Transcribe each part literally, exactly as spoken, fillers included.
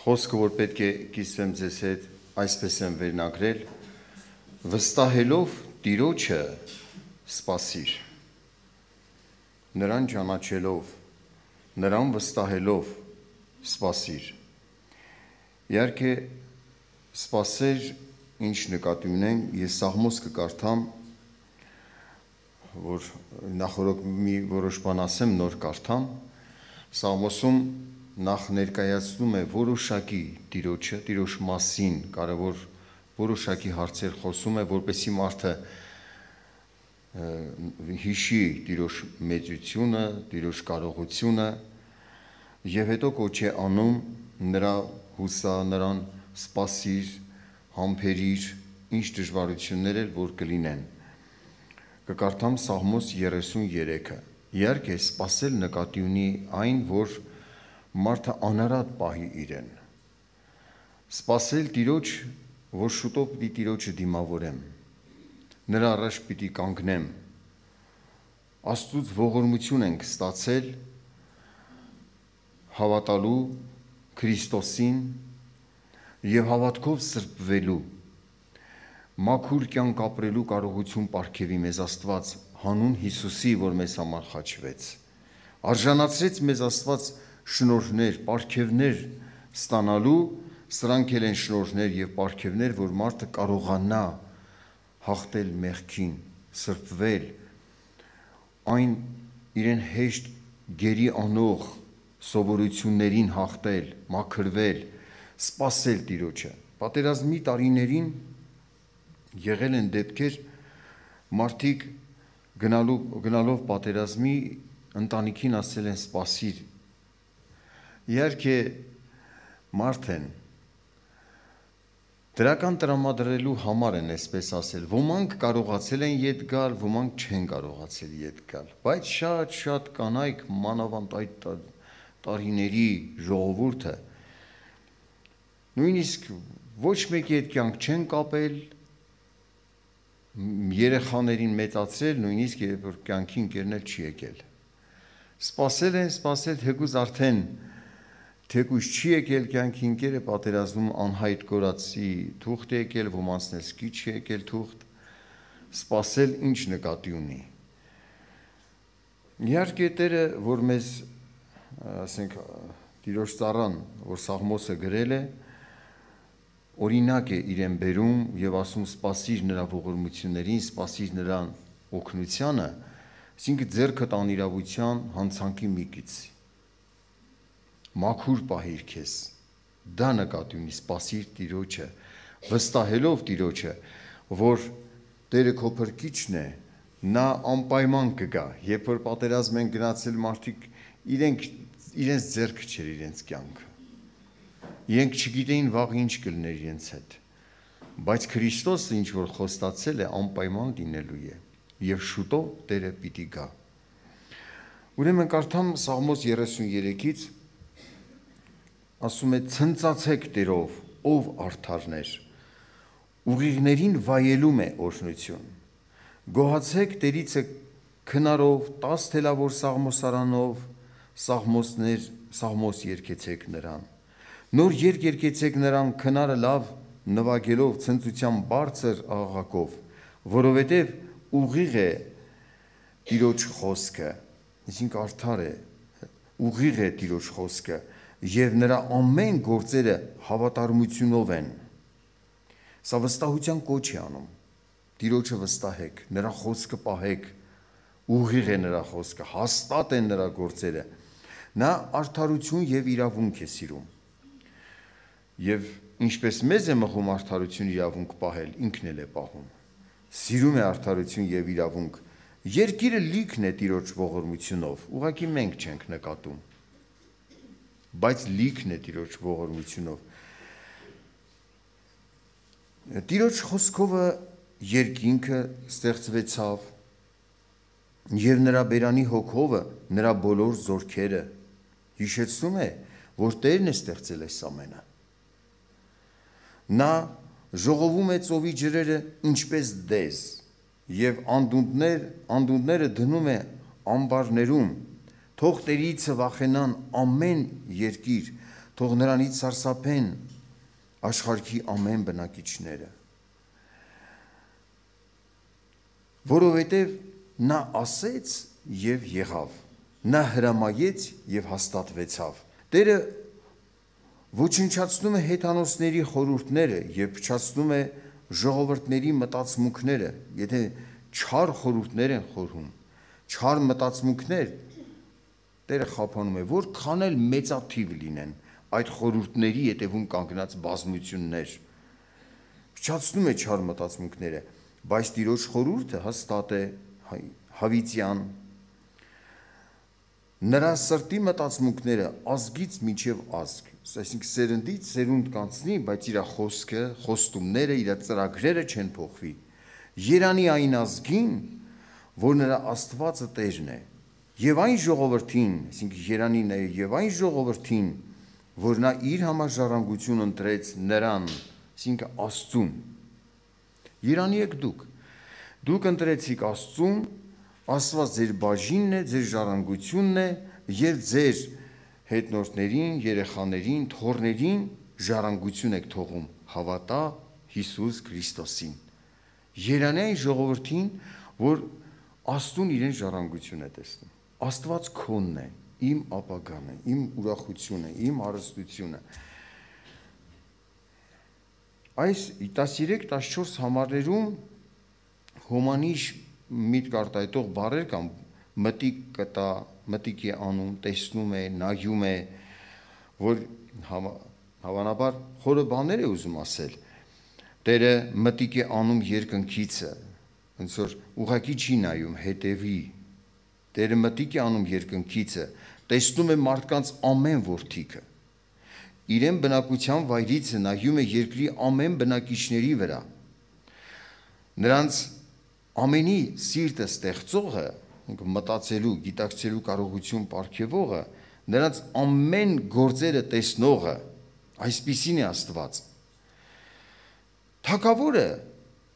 Խոսքը, որ պետք է կիսվեմ ձեզ հետ, այսպես եմ վերնագրել, վստահելով Տիրոջը սպասիր, նրան ճանաչելով, նրան վստահելով սպասիր։ Իհարկե, սպասեր, ինչ նկատի ունենք, ես Սաղմոս կկարդամ, որ նախորդ մի որոշ բան ասեմ, նոր կարդամ, Սաղմոսում նախ ներկայացնում է որոշակի Տիրոջը, Տիրոջ մասին կարևոր որոշակի հարցեր խոսում է, որպեսզի մարդը հիշի Տիրոջ մեծությունը, Տիրոջ կարողությունը եւ հետո կոչ է անում նրա հուսա, նրան սպասիր, համբերիր, ինչ դժվարություններ էլ որ կլինեն։ Կկարդամ Սաղմոս երեսուններեքը։ Իհարկե, սպասել նկատի ունի այն, որ մարդը անարատ պահի իրեն։ Սպասել Տիրոջ, որ շուտով պիտի Տիրոջը դիմավորեմ, նրա առաջ պիտի կանգնեմ, Աստծուց ողորմություն ենք ստացել հավատալու Քրիստոսին եւ հավատքով սրբվելու, մաքուր կյանք ապրելու կարողություն պարգևի մեզ Աստված հանուն Հիսուսի, որ մեզ համար խաչվեց, արժանացրեց մեզ Աստված շնորհներ, պարգևներ ստանալու, սրանք էլ են շնորհներ եւ պարգևներ, որ մարդը կարողանա հաղթել մեղքին, սրբվել, այն իրեն հեշտ գերի անող սովորություններին հաղթել, մաքրվել, սպասել Տիրոջը։ Պատերազմի տարիներին եղել են դեպքեր, մարդիկ գնալու գնալով պատերազմի ընտանիքին ասել են սպասիր։ Իհարկե մարդ են, դրական տրամադրելու համար են այսպես ասել, ոմանք կարողացել են ետ գալ, ոմանք չեն կարողացել ետ գալ, բայց շատ-շատ կանայք մանավանդ այդ տարիների ժողովուրդը նույնիսկ ոչ մեկի հետ կյանք չեն կապել, երեխաներին մեծացրել, նույնիսկ երբ որ կյանքի ընկերներ չի եկել։ Սպասել են, սպասել, թեկուզ արդեն թեկուզ չի եկել կյանքի ընկերը, պատերազմում անհայտ կորածի թուղթ է եկել, ոմանցն էլ սկի չի եկել թուղթ, սպասել ինչ նկատի ունի։ Իհարկե Տերը, որ մեզ, ասենք, Տիրոջ ծառան, որ Սաղմոսը գրել է, օրինակ է իրեն բերում եւ ասում սպասիր նրա ողորմություններին, սպասիր նրան օգնությանը, այսինքն ձեռքը տան իրավության հանցանքի մի կից։ Մաքուր պահիր քեզ, դա նկատի ունի սպասիր Տիրոջը, վստահելով Տիրոջը, որ Տերը քո փրկիչն է, նա անպայման կգա, երբ որ պատերազմ են գնացել մարդիկ, իրենք իրենց ձեռքը չէր իրենց կյանքը։ Իրենք չգիտեին վաղ ինչ կլներ իրենց հետ, բայց Քրիստոսը ինչ որ խոստացել է անպայման լինելու է եւ շուտով Տերը պիտի գա։ Ուրեմն կարդամ Սաղմոս երեսուններեքից, ասում է ցնծացեք Տերով, ով արդարներ, ուղիղներին վայելում է օրհնություն, գոհացեք Տերիցը քնարով, տաս թելավոր սաղմոսարանով, սաղմոսներ, սաղմոս երգեցեք նրան, նոր երգ երգեցեք նրան քնարը լավ նվագելով ցնծության բարձր աղաղակով, որովհետև ուղիղ է Տիրոջ խոսքը, այսինքն արդար է, ուղիղ է Տիրոջ խոսքը եւ նրա ամեն գործերը հավատարմությունով են։ Սա վստահության կոչ է անում։ Տիրոջը վստահեք, նրա խոսքը պահեք, ուղիղ է նրա խոսքը, հաստատ են նրա գործերը։ Նա արդարություն եւ իրավունք է սիրում։ Եվ ինչպես մեզ է մղում արդարություն իրավունք պահել, ինքն էլ է պահում։ Սիրում է արդարություն եւ իրավունք։ Երկիրը լիքն է Տիրոջ ողորմությունով, ուղղակի մենք չենք նկատում, բայց լիքն է Տիրոջ ողորմությունով։ Տիրոջ խոսքովը երկինքը ստեղծվեցավ եւ նրա բերանի հոգովը նրա բոլոր զորքերը հիշեցնում է, որ Տերն է ստեղծել այս ամենը։ Նա ժողովում է ծովի ջրերը ինչպես դեզ եւ անդունդներ, անդունդները դնում է ամբարներում, թող Տերիցը վախենան ամեն երկիր, թող նրանից սարսափեն աշխարհի ամեն բնակիչները, որովհետև նա ասեց և եղավ, նա հրամայեց և հաստատվեցավ։ Տերը ոչնչացնում է հեթանոսների խորհուրդները և փչացնում է ժողովրդների մտածմունքները, եթե չար խորհուրդներ են խորհում, չար մտածմունքներ, Տերը խափանում է, որքան էլ մեծաթիվ լինեն այդ խորհուրդների ետևում կանգնած բազմություններ, փչացնում է չար մտածմունքները, բայց Տիրոջ խորհուրդը հաստատ է, հավիտյան, նրա սրտի մտածմունքները ազգից մինչև ազգ, այսինքն սերնդից սերունդ կանցնի, բայց իր խոսքը, խոստումները, իր ծրագրերը չեն փոխվի։ Երանի այն ազգին, որ նրա Աստվածը Տերն է, եւ այն ժողովրդին, այսինքն Երանին է եւ այն ժողովրդին, որ նա իր համար ժառանգություն ընտրեց նրան, այսինքն Աստծուն։ Երանի եք դուք, դուք ընտրեցիք Աստծուն, Աստված ձեր բաժինն է, ձեր ժառանգությունն է եւ ձեր հետնորդներին, երեխաներին, թոռներին ժառանգություն եք թողում հավատա Հիսուս Քրիստոսին։ Երանի այն ժողովրդին, որ Աստծուն իրեն ժառանգություն է տեսնում։ Աստված քոնն է, իմ ապագան է, իմ ուրախությունը, իմ հարստությունը։ Այս տասներեք տասնչորս համարներում հոմանիշ միտք արտահայտող բառեր կան, մտիկ կտա, մտիկ է անում, տեսնում է, նայում է, որ հավանաբար խորը բաներ է ուզում ասել։ Տերը մտիկ է անում երկնքիցը, ոնց որ ուղղակի չի նայում, հետևի։ Տերը մտիկ է անում երկնքիցը, տեսնում է մարդկանց ամեն որդիքը։ Իրեն բնակության վայրից նայում է երկրի ամեն բնակիչների վրա։ Նրանց ամենի սիրտը ստեղծողը, մտածելու, գիտակցելու կարողություն պարգևողը, նրանց ամեն գործերը տեսնողը, այսպիսին է Աստված։ Թագավորը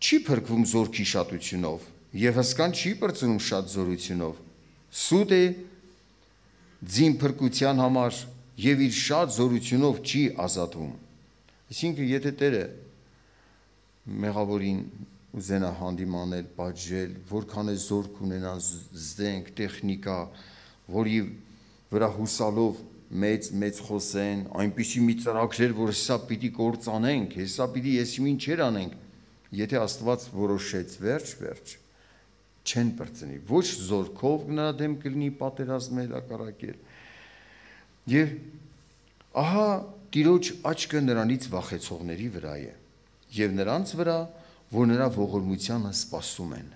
չի փրկվում զորքի շատությունով եւ հսկան չի պրծնում շատ զորությունով։ Սուտ է ձին փրկության համար եւ իր շատ զորությունով չի ազատվում։ Այսինքն, եթե Տերը մեղավորին ուզենա հանդիմանել, պատժել, որքան է զորք ունենան, զենք, տեխնիկա, որի վրա հուսալով մեծ մեծ խոսեն, այնպիսի մի ծրագրեր, որ հեսա պիտի կործանենք, հեսա պիտի եսիմին չեր անենք, եթե Աստված որոշեց վերջ, վերջ, չեն պրծնի, ոչ զորքով նրա դեմ կլինի պատերազմել, հակառակել։ Եվ ահա Տիրոջ աչքը նրանից վախեցողների վրա է, եւ նրանց վրա, որ նրա ողորմությանը սպասում են։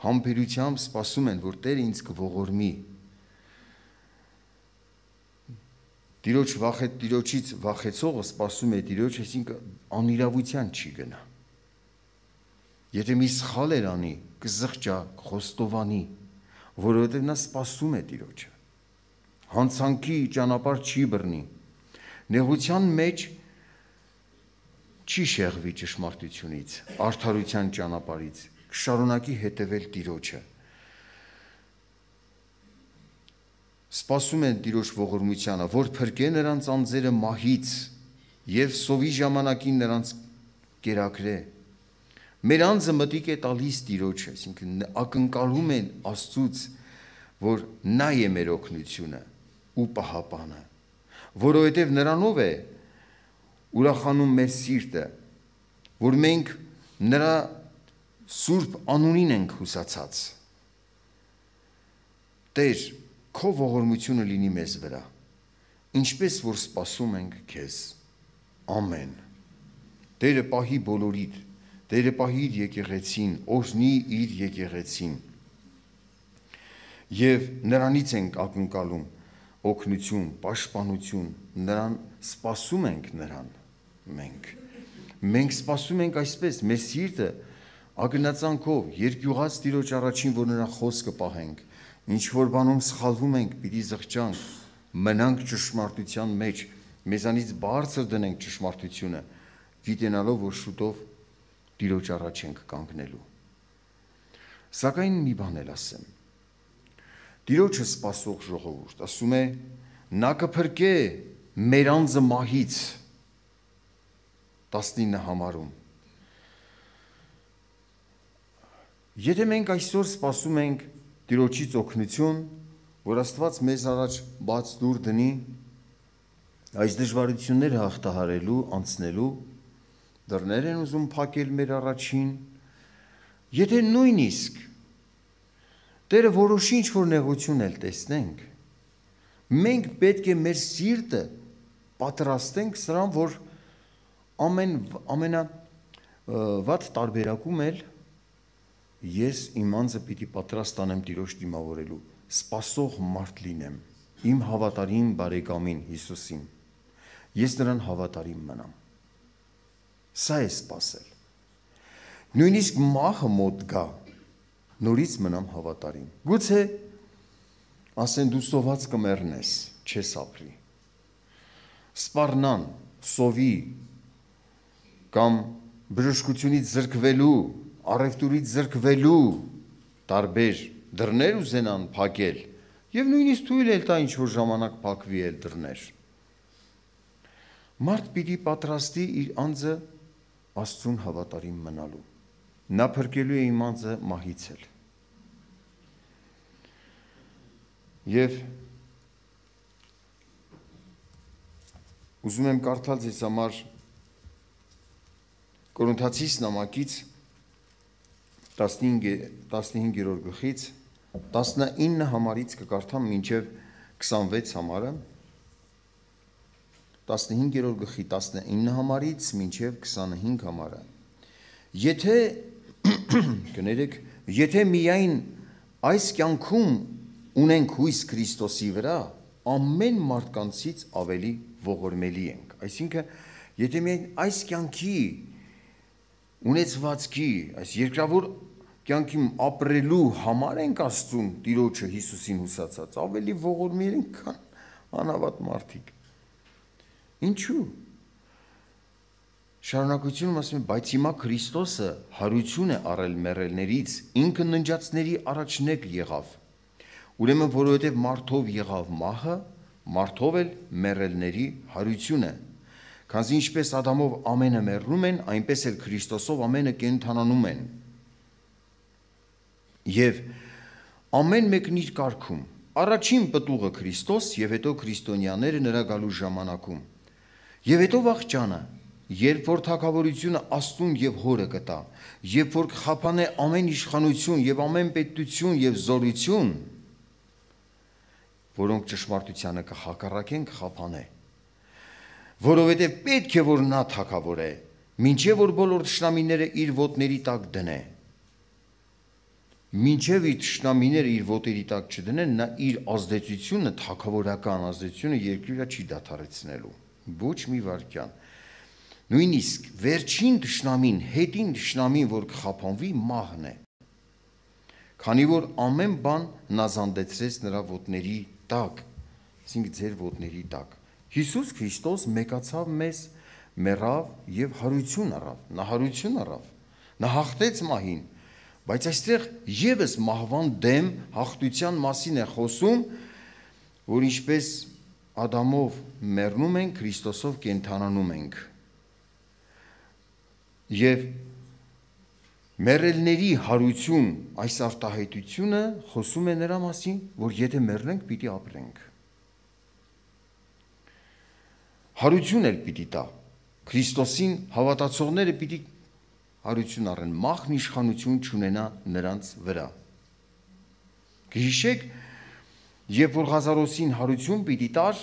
Համբերությամբ սպասում են, որ Տերը ինձ կողորմի։ Տիրոջ վախետ Տիրոջից վախեցողը սպասում է Տիրոջ, այսինքն անիրավության չի գնա։ Եթե մի սխալ էր անի, կզղջա, խոստովանի, որովհետև նա սպասում է Տիրոջը։ Հանցանքի ճանապարհ չի բռնի։ Նեղության մեջ չի շեղվի ճշմարտությունից, արդարության ճանապարհից, կշարունակի հետևել Տիրոջը։ Սպասում են Տիրոջ ողորմությանը, որ փրկե նրանց անձերը մահից եւ սովի ժամանակին նրանց կերակրե։ Մեր անձը մտիկ է տալիս Տիրոջը, այսինքն ակնկալում են Աստծուց, որ նա է մեր օգնությունը ու պահապանը, որովհետև նրանով է ուրախանում մեր սիրտը, որ մենք նրա սուրբ անունին ենք հուսացած։ Տեր, քո ողորմությունը լինի մեզ վրա, ինչպես որ սպասում ենք քեզ։ Ամեն։ Տերը պահի բոլորիդ, Տերը պահի իր եկեղեցին, օրհնի իր եկեղեցին։ Եվ նրանից ենք ակնկալում օգնություն, պաշտպանություն, նրան սպասում ենք նրան մենք։ Մենք սպասում ենք այսպես, մեր սիրտը ագնացանքով, երկյուղած Տիրոջ առաջին, որ նրա խոսքը պահենք, ինչ որ բանում սխալվում ենք, պիտի զղջանք, մնանք ճշմարտության մեջ, մեզանից բարձր դնենք ճշմարտությունը, գիտենալով, որ շուտով Տիրոջ առաջ ենք կանգնելու։ Սակայն մի բան էլ ասեմ։ Տիրոջը սպասող ժողովուրդ, ասում է, նա կփրկե մեր անձը մահից, տասնինը համարում։ Եթե մենք այսօր սպասում ենք Տիրոջից օգնություն, որ Աստված մեզ առաջ բաց դուր դնի այս դժվարությունները հաղթահարելու, անցնելու, դռներ են ուզում փակել մեր առաջին, եթե նույնիսկ Տերը որոշի ինչ-որ նեղություն էլ տեսնենք, մենք պետք է մեր սիրտը պատրաստենք սրան, որ ամեն ամենավատ տարբերակում էլ ես իմ անձը պիտի պատրաստ անեմ Տիրոջ դիմավորելու, սպասող մարդ լինեմ, իմ հավատարիմ բարեկամին Հիսուսին, ես նրան հավատարիմ մնամ, սա է սպասել, նույնիսկ մահը մոտ գա, նորից մնամ հավատարիմ, գուցե ասեն դու սոված կմեռնես, չես ապրի, սպառնան, սովի, կամ բժշկությունից զրկվելու, առևտուրից զրկվելու տարբեր դռներ ուզենան փակել եւ նույնիսկ թույլ էլ տա ինչ-որ ժամանակ փակվի էլ դռներ։ Մարդ պիտի պատրաստի իր անձը Աստծուն հավատարիմ մնալու։ Նա փրկելու է իմ անձը մահից էլ։ Եվ ուզում եմ կարդալ ձեզ համար Կորինթացիս նամակից տասնհինգերորդ գլխից տասնինը համարից կկարդամ մինչև քսանվեց համարը, տասնհինգերորդ գլխի տասնինը համարից մինչև քսանհինգ համարը։ Եթե կներեք, եթե միայն այս կյանքում ունենք հույս Քրիստոսի վրա, ամեն մարդկանցից ավելի ողորմելի ենք։ Այսինքն, եթե միայն այս կյանքի ունեցվածքի, այս երկրավոր կյանքի ապրելու համար ենք Աստծուն Տիրոջը Հիսուսին հուսացած, ավելի ողորմելի ենք, քան անհավատ մարդիկ։ Ինչու՞։ Շարունակությունում ասում է, բայց հիմա Քրիստոսը հարություն է առել մեռելներից, ինքը ննջածների առաջնեկ եղավ։ Ուրեմն որովհետև մարդով եղավ մահը, մարդով էլ մեռելների հարությունը։ Քանզի ինչպես Ադամով ամենը մեռնում են, այնպես էլ Քրիստոսով ամենը կենդանանում են։ Եվ ամեն մեկն իր կարգում, առաջին պտուղը Քրիստոս եւ հետո քրիստոնյաները նրա գալու ժամանակում։ Եվ հետո վախճանը, երբ որ թագավորությունը Աստծուն եւ Հորը կտա, երբ որ կխափանե ամեն իշխանություն եւ ամեն պետություն եւ զորություն, որոնք ճշմարտությանը կհակառակեն, կխափանե, որովհետեւ պետք է որ նա թագավոր է, մինչեւ որ բոլոր թշնամիները իր ոտների տակ դնե։ Մինչև իր թշնամիները իր ոտերի տակ չդնեն, նա իր ազդեցությունը, թագավորական ազդեցությունը երկրի վրա չի դադարեցնելու, ոչ մի վարքյան։ Նույնիսկ վերջին թշնամին, հետին թշնամին, որ կխափանվի, մահն է։ Քանի որ ամեն բան նազանդեցրեց նրա ոտների տակ, այսինքն ձեր ոտների տակ։ Հիսուս Քրիստոս մեկացավ մեզ, մեռավ եւ հարություն առավ, նա հարություն առավ, նա հաղթեց մահին, բայց այստեղ եւս մահվան դեմ հաղթության մասին է խոսում, որ ինչպես Ադամով մեռնում ենք, Քրիստոսով կենդանանում ենք։ Եվ մեռելների հարություն այս արտահայտությունը խոսում է նրա մասին, որ եթե մեռնենք, պիտի ապրենք։ Հարություն էլ պիտի տա։ Քրիստոսին հավատացողները պիտի հարություն առեն, մահն իշխանություն չունենա նրանց վրա։ Գիշեք, երբ որ Ղազարոսին հարություն պիտի տար,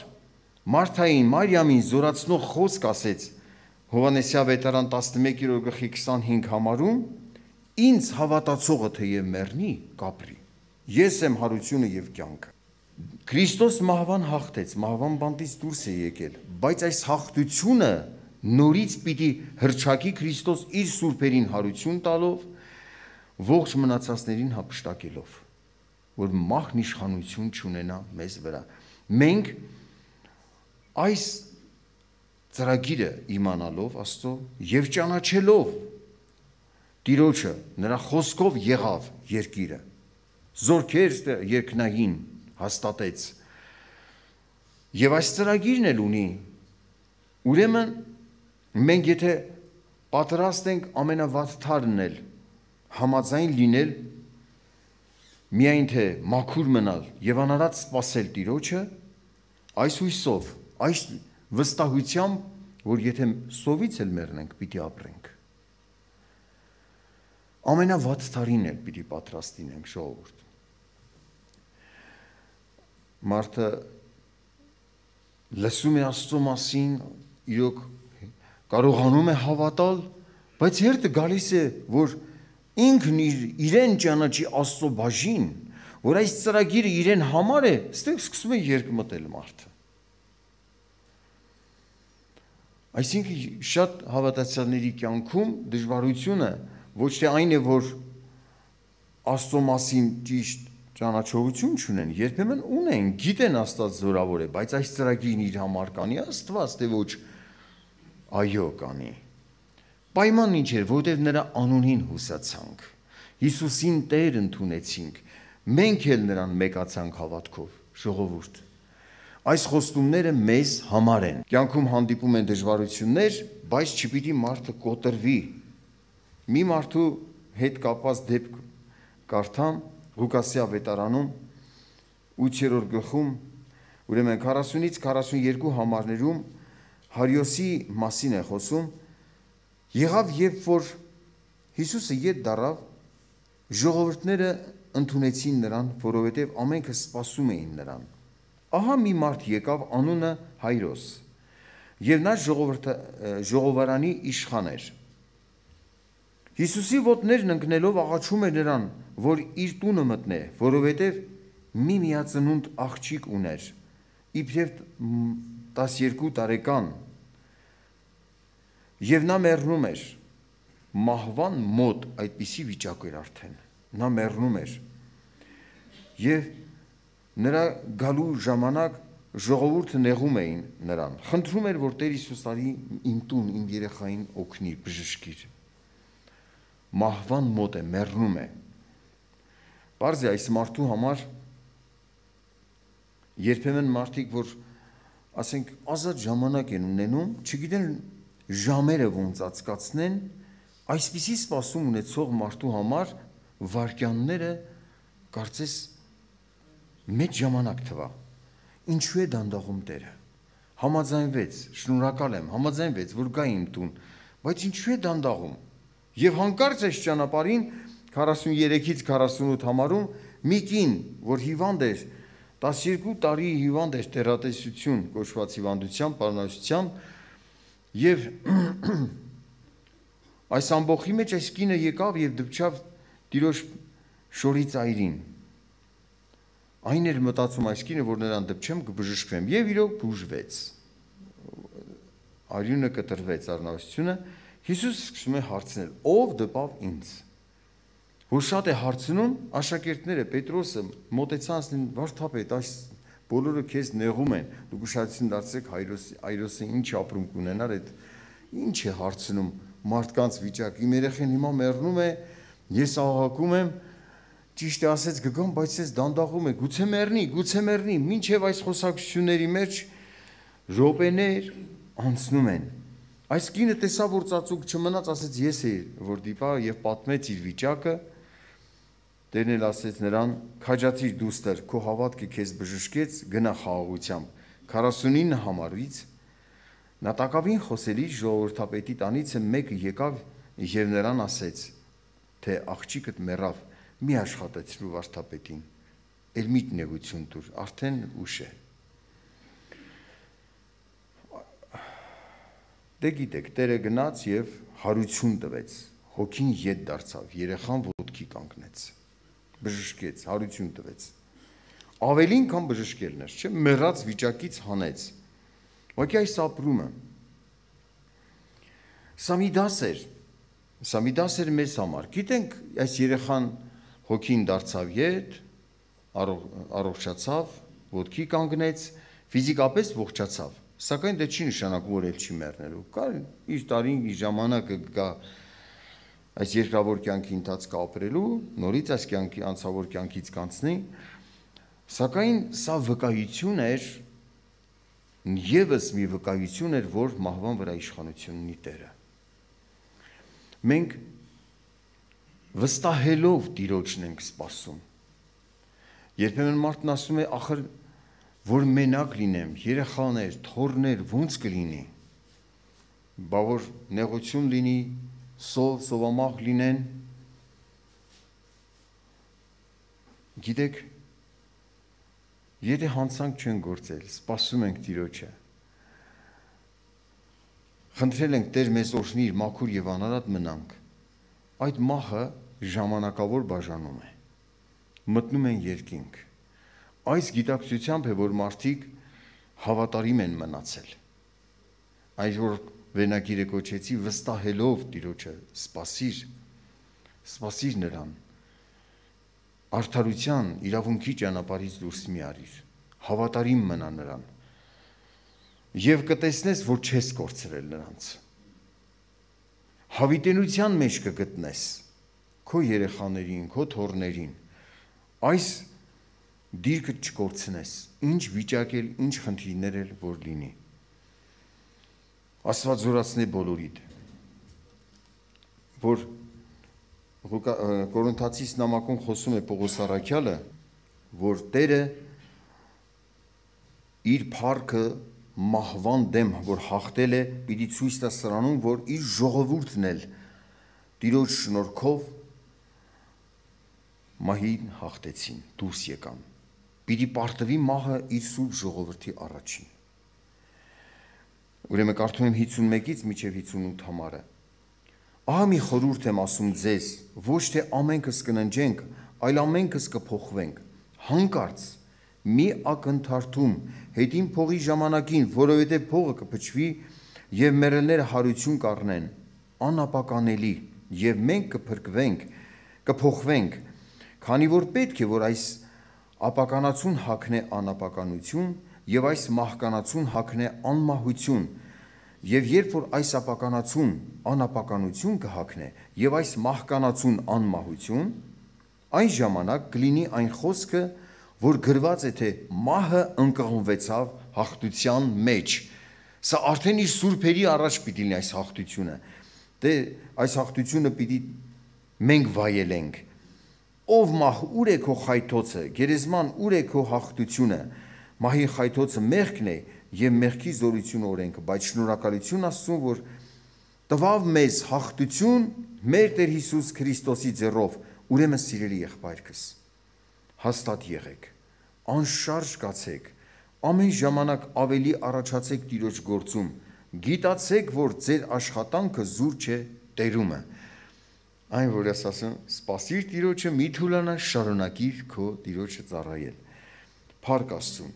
Մարթային, Մարիամին զորացնող խոսք ասեց Հովհաննես ավետարան տասնմեկերորդ գլխի քսանհինգ համարում, ինձ հավատացողը թեև մեռնի, կապրի։ Ես եմ հարությունը եւ կյանքը։ Քրիստոս մահվան հաղթեց, մահվան բանտից դուրս է եկել, բայց այս հաղթությունը նորից պիտի հրճակի Քրիստոս իր սուրբերին հարություն տալով, ողջ մնացածներին հափշտակելով, որ մահն իշխանություն չունենա մեզ վրա։ Մենք այս ծրագիրը իմանալով Աստծո եւ ճանաչելով Տիրոջը, նրա խոսքով եղավ երկիրը, զորքեր երկնային հաստատեց, Եվ այս ծրագիրն էլ ունի։ Ուրեմն մենք եթե պատրաստ ենք ամենավատթարն էլ համաձայն լինել միայն թե մաքուր մնալ եւ անարած սпасել Տիրոջը, այս հույսով, այս վստահությամբ, որ եթե սովից էլ մեռնենք, պիտի ապրենք։ Ամենավատթարին էլ պիտի պատրաստ լինենք, ժողովուրդ։ Մարդը լսում է Աստծո մասին, իրոք կարողանում է հավատալ, բայց հերթը գալիս է, որ ինքն իր, իրեն ճանաչի Աստծո բաժին, որ այս ծրագիրը իրեն համար է, ստեղ սկսում է երկմտել մարդը։ Այսինքն շատ հավատացյալների կյանքում դժվարությունը ոչ թե այն է, որ Աստծո մասին ճիշտ ճանաչողություն չունեն, երբեմն ունեն, գիտեն Աստված զորավոր է, բայց այս ծրագիրն իր համար կանի Աստված, թե ոչ այո կանի։ Պայմանն ինչ էր, որտեղ նրա անունին հուսացանք, Հիսուսին Տեր ընդունեցինք, մենք էլ նրան մեկացանք հավատքով, ժողովուրդ։ Այս խոստումները մեզ համար են։ Կյանքում հանդիպում են դժվարություններ, բայց չպիտի մարդը կոտրվի։ Մի մարդու հետ կապված դեպք կարդամ Ղուկասի ավետարանում ութերորդ գլխում, ուրեմն քառասունից քառասունյոթ համարներում Հարիոսի մասին է խոսում։ Եղավ, երբ որ Հիսուսը ետ դառավ, ժողովուրդները ընդունեցին նրան, որովհետև ամենքը սպասում էին նրան։ Ահա մի մարդ եկավ, անունը Հայրոս, եւ նա ժողովարանի իշխան էր։ Հիսուսի ոտներն ընկնելով աղաչում էր նրան, որ իր տունը մտնե, որովհետև մի միածնունդ աղջիկ ուներ, իբրև տասներկու տարեկան, եւ նա մեռնում էր, մահվան մոտ այդպիսի վիճակ էր արդեն, նա մեռնում էր, եւ նրա գալու ժամանակ ժողովուրդը նեղում էին նրան, խնդրում էր, որ Տեր Հիսուս արի իմ տուն, իմ երեխային օգնի, բժշկիր։ Մահվան մոտ է, մեռնում է։ Պարզ է այս մարդու համար երբեմն մարդիկ, որ ասենք ազատ ժամանակ են ունենում, չգիտեն ժամերը ոնց անցկացնեն, այսպիսի սպասում ունեցող մարդու համար վայրկյանները կարծես մեծ ժամանակ թվա։ Ինչու է դանդաղում Տերը։ Համաձայնվեց, շնորհակալ եմ, համաձայնվեց, որ գա իմ տուն, բայց ինչու է դանդաղում։ Եվ հանկարծ այս ճանապարհին քառասունյոթից քառասունութ համարում մի կին, որ հիվանդ էր, տասներկու տարի հիվանդ էր, տերատեսություն կոչված հիվանդությամբ, պարունակությամբ, եւ այս ամբողջի մեջ այս կինը եկավ եւ դպչավ Տիրոջ շորի ծայրին։ Այն էր մտածում այս կինը, որ նրան դպչեմ, կբժշկվեմ, եւ իրոք բուժվեց։ Արյունը կտրվեց, առնվազնությունը։ Հիսուս սկսում է հարցնել. ով դպավ ինձ։ Որ շատ է հարցնում, աշակերտները, Պետրոսը մոտեցան ասին, վարդապետ, այս բոլորը քեզ նեղում են, դուք ուշադրություն դարձրեք Հայրոսի, Հայրոսը ինչ ապրում կունենար, այդ ինչ է հարցնում մարդկանց վիճակ։ Իմ երեխան հիմա մեռնում է, ես աղաղակում եմ, ճիշտ է ասեց գգամ, բայց ես դանդաղում է, գուցե մեռնի, գուցե մեռնի, մինչև այս խոսակցությունների մեջ րոպեներ անցնում են։ Այս կինը տեսավ, որ ծածուկ չմնաց, ասեց ես էի, որ դիպա եւ պատմեց իր վիճակը։ Տերն էլ ասեց նրան, քաջացիր դուստր, քո հավատքը քեզ բժշկեց, գնա խաղաղությամբ։ քառասունինը համարից նա տակավին խոսելի ժողովրդապետի տանիցը մեկը եկավ եւ նրան ասեց, թե աղջիկդ մեռավ, մի աշխատեցրու վարդապետին, էլ մի նեղություն տուր, արդեն ուշ է։ Դե գիտեք, Տերը գնաց եւ հարություն տվեց, հոգին ետ դարձավ, երեխան ոտքի կանգնեց, բժշկեց, հարություն տվեց։ Ավելին քան բժշկելն էր, չէ՞, մեռած վիճակից հանեց։ Ուղղակի այս ապրումը սա մի դաս էր, սա մի դաս էր մեզ համար։ Գիտենք, այս երեխան հոգին դարձավ ետ, առողջացավ, ոտքի կանգնեց, ֆիզիկապես ողջացավ, սակայն դա չի նշանակում, որ էլ չի մեռնելու։ Կար իր տարին, իր ժամանակը գա այս երկրավոր կյանքի ընթացքը ապրելու, նորից այս կյանքի անցավոր կյանքից կանցնի, սակայն սա վկայություն էր Եվս մի վկայություն էր, որ մահվան վրա իշխանություն ունի Տերը։ Մենք վստահելով Տիրոջն ենք սպասում։ Երբեմն մարդն ասում է, ախր որ մենակ լինեմ, երեխաներ, թոռներ, ոնց կլինի։ Բա որ նեղություն լինի, սով, սովամահ լինեն։ Գիտեք, եթե հանցանք չեն գործել, սպասում ենք Տիրոջը, խնդրել ենք Տեր մեզ օրհնիր, մաքուր եւ անարատ մնանք, այդ մահը ժամանակավոր բաժանում է, մտնում են երկինք։ Այս գիտակցությամբ է, որ մարդիկ հավատարիմ են մնացել։ Այս որ վերնագիրը կոչեցի վստահելով Տիրոջը, սպասիր, սպասիր նրան, արդարության, իրավունքի ճանապարհից դուրս մի արիր, հավատարիմ մնա նրան, եւ կտեսնես, որ չես կորցրել նրանց։ Հավիտենության մեջ կգտնես քո երեխաներին, քո թոռներին, այս դիրքը չկորցնես, ինչ վիճակ էլ, ինչ խնդիրներ էլ որ լինի։ Աստված զորացնե բոլորիդ, որ Կորինթացիս նամակում խոսում է Պողոս առաքյալը, որ Տերը իր փառքը մահվան դեմ, որ հաղթել է, պիտի ցույց տա սրանում, որ իր ժողովուրդն էլ Տիրոջ շնորհքով մահին հաղթեցին, դուրս եկան։ Պիտի պարտվի մահը իր սուրբ ժողովրդի առաջին։ Ուրեմն կարդում եմ հինգսունմեկից մինչև հինգսունութ համարը։ Ահա մի խորհուրդ եմ ասում ձեզ, ոչ թե ամենքս կննջենք, այլ ամենքս կփոխվենք։ Հանկարծ մի ակնթարթում հետին փողի ժամանակին, որովհետև փողը կփչվի եւ մեռելները հարություն կառնեն, անապականելի, եւ մենք կփրկվենք, կփոխվենք, քանի որ պետք է, որ այս ապականացուն հագնե անապականություն եւ այս մահկանացուն հագնե անմահություն, եւ երբ որ այս ապականացուն անապականություն կհագնե եւ այս մահկանացուն անմահություն, այն ժամանակ կլինի այն խոսքը, որ գրված է, թե մահը ընկղմվեցավ հաղթության մեջ։ Սա արդեն իր սուրբերի առաջ պիտի լինի այս հաղթությունը։ Դե այս հաղթությունը պիտի մենք վայելենք։ Ով մահ, ուր է քո խայթոցը, գերեզման, ուր է քո հաղթությունը։ Մահի խայթոցը մեղքն է եւ մեղքի զորությունը օրենքը, բայց շնորհակալություն Աստծուն, որ տվավ մեզ հաղթություն մեր Տեր Հիսուս Քրիստոսի ձեռով։ Ուրեմն սիրելի եղբայրքս, հաստատ եղեք, անշարժ կացեք, ամեն ժամանակ ավելի առաջացեք Տիրոջ գործում, գիտացեք, որ ձեր աշխատանքը զուր չէ Տերումը։ Այն որ ես ասում, սպասիր Տիրոջը, մի թուլանա, շարունակիր քո Տիրոջը ծառայել։ Փառք Աստծուն։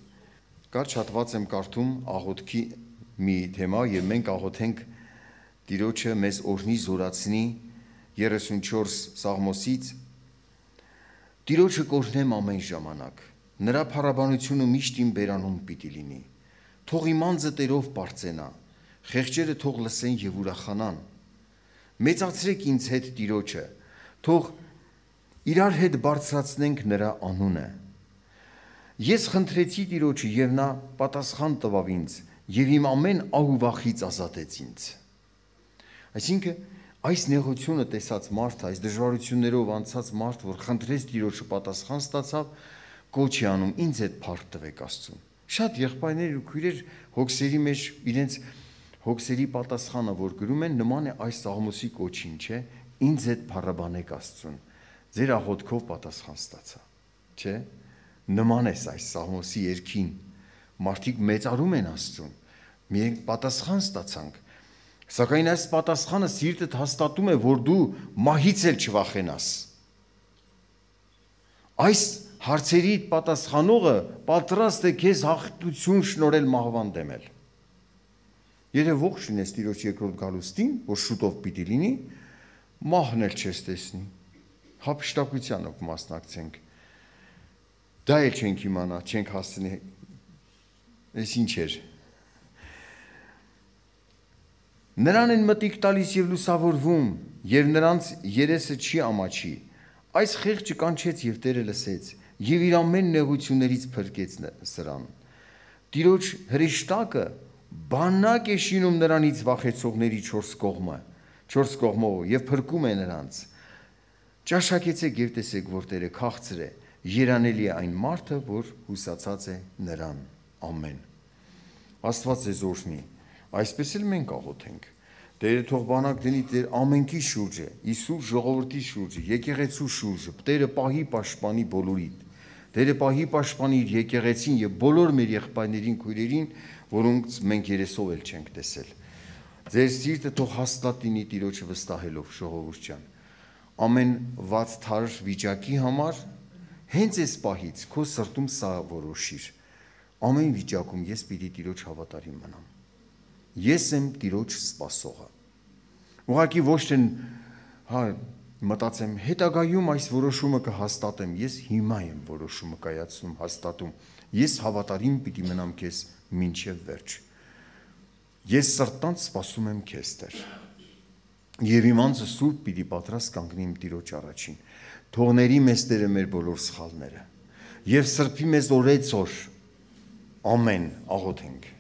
Կարճ հատված եմ կարդում աղոթքի մի թեմա եւ մենք աղոթենք Տիրոջը մեզ օրհնի զորացնի երեսունչորս Սաղմոսից։ Տիրոջը կօրհնեմ ամեն ժամանակ, նրա փառաբանությունը միշտ իմ բերանում պիտի լինի։ Թող իմ անձը Տերով պարծենա, խեղճերը թող լսեն եւ ուրախանան։ Մեծացրեք ինձ հետ Տիրոջը, թող իրար հետ բարձրացնենք նրա անունը։ Ես խնդրեցի Տիրոջը եւ նա պատասխան տվավ ինձ եւ իմ ամեն ահուվախից ազատեց ինձ։ Այսինքն այս նեղությունը տեսած մարդ, այս դժվարություններով անցած մարդ, որ խնդրեց Տիրոջը պատասխան ստացավ, կոչի անում ինձ հետ փառք տվեք Աստծուն։ Շատ եղբայրներ ու քույրեր հոգսերի մեջ իրենց հոգսերի պատասխանը, որ գրում են, նման է այս Սաղմոսի կոչին, չէ՞, ինձ հետ փառաբանեք Աստծուն։ Ձեր աղոթքով պատասխան ստացա, չէ՞։ Նման է այս Սաղմոսի երգին, մարդիկ մեծարում են Աստծուն, մենք պատասխան ստացանք, սակայն այս պատասխանը սիրտդ հաստատում է, որ դու մահից էլ չվախենաս։ Այս հարցերի պատասխանողը պատրաստ է քեզ հաղթություն շնորհել մահվան դեմել։ Եթե ողջ լինես Տիրոջ երկրորդ գալուստին, որ շուտով պիտի լինի, մահն էլ չես տեսնի, հափշտակությանով մասնակցենք։ Դա էլ չենք իմանա, չենք հասցնի, այս ինչ էր։ Նրան են մտիկ տալիս և լուսավորվում, և նրանց երեսը չի ամաչի, այս խեղճը կանչեց և Տերը լսեց, և իր ամեն նեղություններից փրկեց սրան։ Տիրոջ հրեշտակը բանակ է շինում նրանից վախեցողների չորս կողմը, չորս կողմով եւ փրկում է նրանց։ Ճաշակեցեք եւ տեսեք, որ Տերը քաղցր է, երանելի է այն մարդը, որ հուսացած է նրան։ Ամեն։ Աստված ձեզ օրհնի։ Այսպես էլ մենք աղոթենք։ Տերը թող բանակ դնի Տեր ամենքի շուրջը, Իսուր ժողովրդի շուրջը, եկեղեցու շուրջը, Տերը պահի պաշտպանի բոլորիդ։ Տերը պահի պաշտպանի իր եկեղեցին եւ բոլոր մեր եղբայրներին, քույրերին, որոնց մենք երեսով էլ չենք տեսել։ Ձեր սիրտը թող հաստատ լինի Տիրոջը վստահելով, ժողովուրդ ջան։ Ամեն վատ թար վիճակի համար հենց այս պահից քո սրտում սա որոշիր։ Ամեն վիճակում ես պիտի Տիրոջ հավատարիմ մնամ։ Ես եմ Տիրոջ սպասողը։ Ուղղակի ոչ թե հա մտածեմ հետագայում այս որոշումը կհաստատեմ, ես հիմա եմ որոշումը կայացնում, հաստատում։ Ես հավատարիմ պիտի մնամ քեզ մինչև վերջ։ Ես սրտանց սպասում եմ քեզ, Տեր։ Եվ իմ անձը սուրբ պիտի պատրաստ կանգնի իմ Տիրոջ առաջին։ Թողների մեզ Տերը մեր բոլոր սխալները եւ սրբի մեզ օրեցօր։ Ամեն աղոթենք։